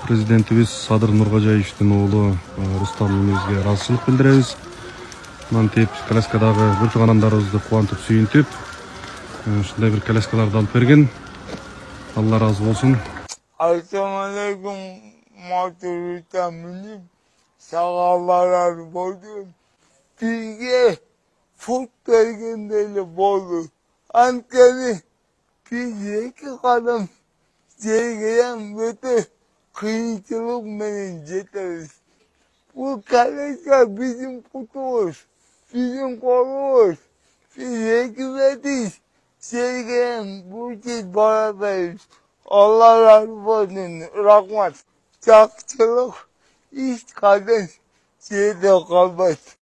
Президентибиз Садыр Нуркожаевичтин уулу Рустам эмебизге ыраазычылык билдиребиз. Мантип коляскадагы бір туугандарыбызды кубантып сүйүнтүп, ушундай бир коляскаларды алып берген. Алла ыраазы болсун. Assalamu alaikum, motorda minib sağallar boldu. Bizge fut bergendeli boldu. Ankara bizge kadam jergeden bütün kıyıcılık menen jeteriz. Bu kalesa bizim kutumuz, bizim kolumuz, biz hükümetiz. Jergeden bu için beraberiz. Allah razı olsun, rahmet, çakçılık, iş kadın, şeyde kalmaz.